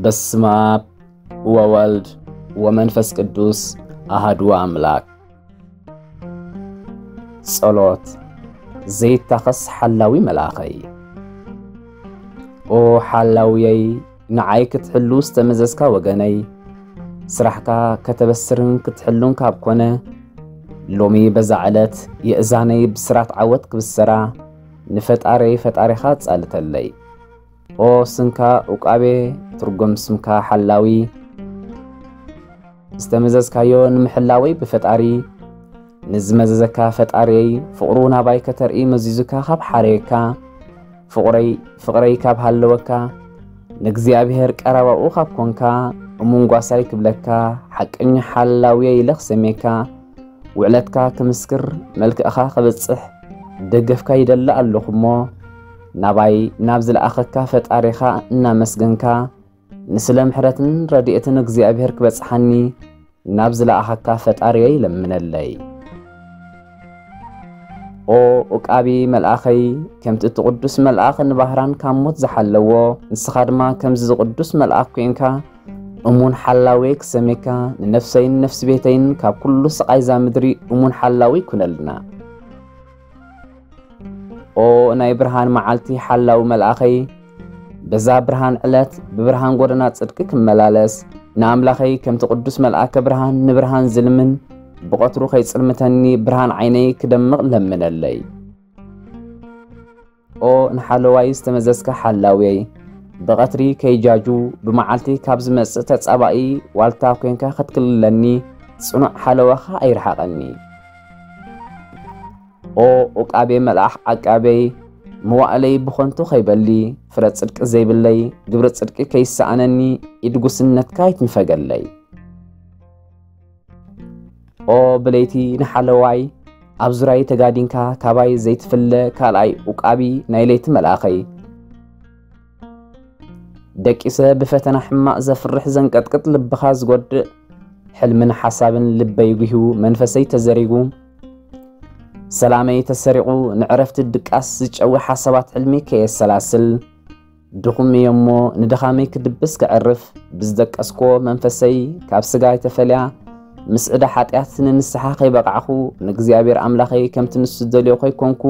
በስመ አብ ወወልድ ወመንፈስ ቅዱስ አሃዱ አምላክ። ጸሎት። ዘይታኸስ ሓላዊ መልኣኸይ። ኦ ሓላውየይ፣ ንዓይ ክትሕሉ ዝተመዘዝካ ወገነይ፣ ስራሕካ ከተበስርን ክትሕሉን ካብ ኮነ፣ ሎሚ በዛ ዕለት የእዛነይ ብስራት ዓወት ክብሰራ፣ ንፈጣረይ ፈጣሪኻ ጻልተለይ። ኦ ስንካ ኡቃቤ፣ ትርጉም ስምካ ሓላዊ፣ ዝተመዘዝካዮ ንምሕላወይ ብፈጣሪ፣ ንዝመዘዘካ ፈጣሪየይ፣ ፍቕሩ ናባይ ከተርኢ መዚዙካ ካብ ሓረየካ፣ ፍቕረይ፣ ፍቕረይ ካብ ሃለወካ፣ ንእግዚኣብሔር ቀረባኡ ካብ ኮንካ፣ እሙን ጓሳይ ክብለካ፣ ሓቀኛ ሓላውየ ኢለ ክሰምየካ፣ ውዕለትካ ክምስክር፣ መልክዕኻ ክበጽሕ፣ ደገፍካ ይደሊ ኣለኹ እሞ፣ ናባይ ናብ ዝለኣኸካ ፈጣሪኻ እናመስገንካ፣ ንስለ ምሕረትን ረድኤትን እግዚኣብሔር ክበጽሓኒ፣ ናብ ዝለኣኸካ ፈጣሪየይ ለምነለይ። ኦ ኡቃቢ መልኣኸይ፣ ከምቲ እቲ ቅዱስ መልኣኽ ንባህራን ካብ ሞት ዝሓለዎ፣ ንስኻ ድማ ከምዚ ዝቅዱስ መልኣኽ ኮይንካ፣ እሙን ሓላዌ ክሰሜካ፣ ንነፍሰይን ነፍሲ ቤተይን ካብ ኩሉ ስቓይ እዛ ምድሪ እሙን ሓላዊ ኩነልና። ኦ ናይ ብርሃን መዓልቲ ሓላዊ መልኣኸይ፣ በዛ ብርሃን ዕለት ብብርሃን ጎደና ጽድቂ ክመላለስ፣ ንኣምላኸይ ከምቲ ቅዱስ መልኣከ ብርሃን ንብርሃን ዝልምን፣ ብቐትሩ ከይጽልምተኒ ብርሃን ዓይነይ ክደምቕ ለምነለይ። ኦ ንሓለዋይ ዝተመዘዝካ ሓላውየይ፣ ብቐትሪ ከይጃጁ ብመዓልቲ ካብ ዝመጽእ ተጻባኢ ዋልታ ኮንካ ክትክልለኒ ጽኑዕ ሓለዋኻ ኣይርሓቐኒ። ኦ ኡቃቤ መልኣኽ ዓቃቤይ፣ መዋእለይ ብኾንቱ ከይበሊ፣ ፍረ ጽድቂ ዘይብለይ፣ ግብሪ ጽድቂ ከይሰኣነኒ፣ ኢድ ጉስነትካ ኣይትንፈገለይ። ኦ ብለይቲ ንሓለዋይ፣ ኣብ ዙርያይ ተጋዲንካ፣ ካባይ ዘይትፍለ ካልኣይ ኡቃቢ ናይ ለይቲ መልኣኸይ። ደቂሰ ብፈተና ሕማቕ ዘፍርሕ ዘንቀጥቅጥ ልብኻ ዝጎድእ ሕልምን ሓሳብን ልበይ ጉሂዩ መንፈሰይ ተዘሪጉ። ሰላመይ ተሰሪቑ ንዕረፍቲ ድቃስ ዝጨዊ ሓሳባት ሕልሚ ከየሰላስል ድኹም እየ እሞ ንድኻመይ ክድብስ ከዕርፍ ብዝደቀስኮ መንፈሰይ ካብ ስጋይ ተፈልያ ምስ ዕዳ ሓጢኣት ንንስሓ ከይበቃዕኹ ንእግዚኣብሔር ኣምላኸይ ከምቲ ንሱ ዝደልዮ ከይኮንኩ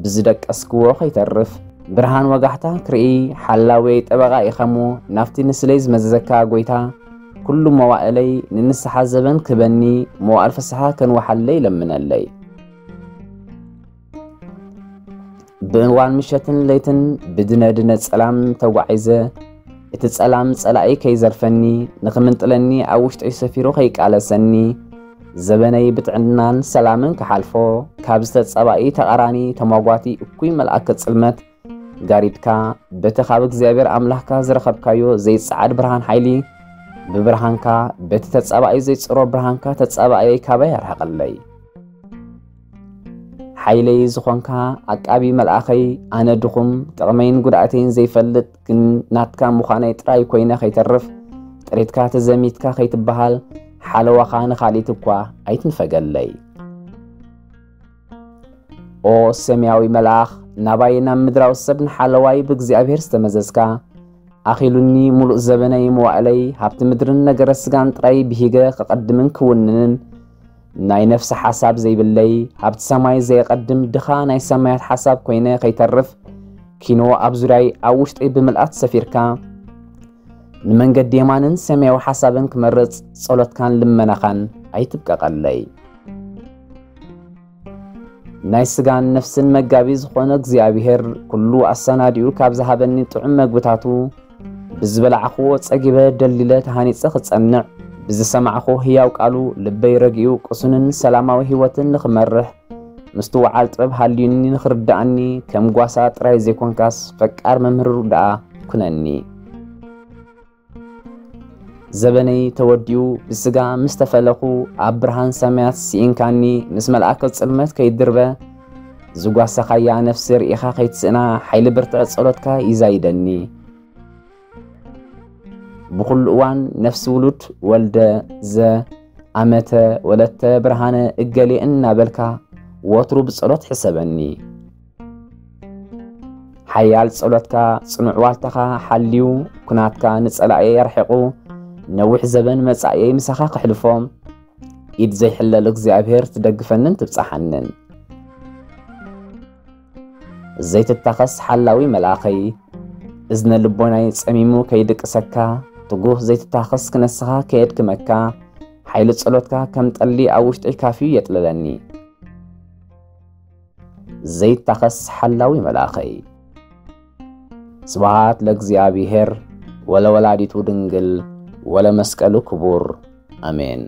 ብዝደቀስክዎ ከይተርፍ ብርሃን ወጋሕታ ክርኢ ሓላዌይ ጠበቓ ኢኻሞ ናብቲ ንስለይ ዝመዘዘካ ጎይታ ኩሉ መዋእለይ ንንስሓ ዘበን ክበኒ መዋእል ፍስሓ ከንወሓለይ ለምነለይ። ብእዋን ምሸትን ለይትን ብድነድነ ጸላም ተጓዒዘ፣ እቲ ጸላም ጸላኢ ከይዘርፈኒ፣ ንኽምንጥለኒ ኣብ ውሽጠይ ሰፊሩ ከይቃለሰኒ፣ ዘበነይ ብጥዕናን ሰላምን ክሓልፎ፣ ካብ ዝተጸባኢ ተቓራኒ ተሟጓቲ እኩይ መልኣከ ጽልመት ጋሪድካ፣ በቲ ካብ እግዚኣብሔር ኣምላኽካ ዝረኸብካዮ ዘይጸዓድ ብርሃን ሓይሊ፣ ብብርሃንካ፣ በቲ ተጸባኢ ዘይጽሮ ብርሃንካ ተጸባእየይ ካባይ ኣርሕቐለይ። ሓይለይ ዝኾንካ ዓቃቢ መልኣኸይ፣ ኣነ ድኹም፣ ጥቕመይን ጉድኣተይን ዘይፈልጥ፣ ግን ናትካ ምዃነይ ጥራይ ኮይነ ከይተርፍ፣ ጥሪትካ ተዘሚትካ ከይትበሃል፣ ሓለዋኻ ንኻልኢት እኳ ኣይትንፈገለይ። ኦ ሰማያዊ መልኣኽ፣ ናባይ ናብ ምድራዊ ሰብ ንሓለዋይ ብእግዚኣብሔር ዝተመዘዝካ፣ ኣኺሉኒ ምሉእ ዘበነይ መዋእለይ ሃብቲ ምድርን ነገረ ስጋን ጥራይ ብሂገ ክቐድምን ክውንንን፣ ናይ ነፍሲ ሓሳብ ዘይብለይ፣ ሃብቲ ሰማይ ዘየቐድም ድኻ ናይ ሰማያት ሓሳብ ኮይነ ከይተርፍ፣ ኪኖ ኣብ ዙርያይ ኣብ ውሽጠይ ብምልኣት ሰፊርካ፣ ንመንገዲ የማንን ሰማያዊ ሓሳብን ክመርጽ ጸሎትካን ልመናኻን ኣይትብቀቐለይ። ናይ ስጋን ነፍስን መጋቢ ዝኾነ እግዚኣብሔር ኩሉ ኣሰናዲኡ ካብ ዝሃበኒ ጥዑም መግብታቱ ብዝበላዕኽዎ ጸጊበ ደሊለ ተሃኒጸ ክጸንዕ ብዝሰማዕኽዎ ህያው ቃሉ ልበይ ረጊኡ ቅሱንን ሰላማዊ ህይወትን ንኽመርሕ ምስትውዓል ጥበብ ሃልዩኒ ንኽርድኣኒ ከም ጓሳ ጥራይ ዘይኮንካስ ፈቃር መምህር ደኣ ኩነኒ። ዘበነይ ተወዲኡ ብስጋ ምስ ተፈለኹ ኣብ ብርሃን ሰማያት ስኢንካኒ ምስ መልኣከ ጽልመት ከይድርበ ዝጓሰኻያ ነፍሲ ርኢኻ ከይትስእና ሓይሊ ብርትዕ ጸሎትካ ይዛይደኒ። ብኹሉ እዋን ነፍሲ ውሉድ ወልደ ዘ ኣመተ ወለተ ብርሃነ እገሌ እናበልካ ወትሩ ብጸሎት ሕሰበኒ። ሓያል ጸሎትካ ጽኑዕ ዋልታኻ ሓልዩ፣ ኩናትካ ንጸላእየ ኣርሒቑ፣ ነዊሕ ዘበን መጻእየይ ምሳኻ ክሕልፎ፣ ኢድ ዘይሕለል እግዚኣብሔር ትደግፈንን ትብጻሓንን። ዘይትታኸስ ሓላዊ መልኣኸይ፣ እዝነ ልቦናይ ጸሚሙ ከይድቅሰካ፣ ትጉህ ዘይትታኸስ ክነስኻ ከየድክመካ፣ ሓይሊ ጸሎትካ ከም ጠሊ ኣብ ውሽጠይ ካፍዩ የጥልለኒ። ዘይታኸስ ሓላዊ መልኣኸይ። ስብሃት ለእግዚኣብሔር ወለወላዲቱ ድንግል ወለመስቀሉ ክቡር። ኣሜን።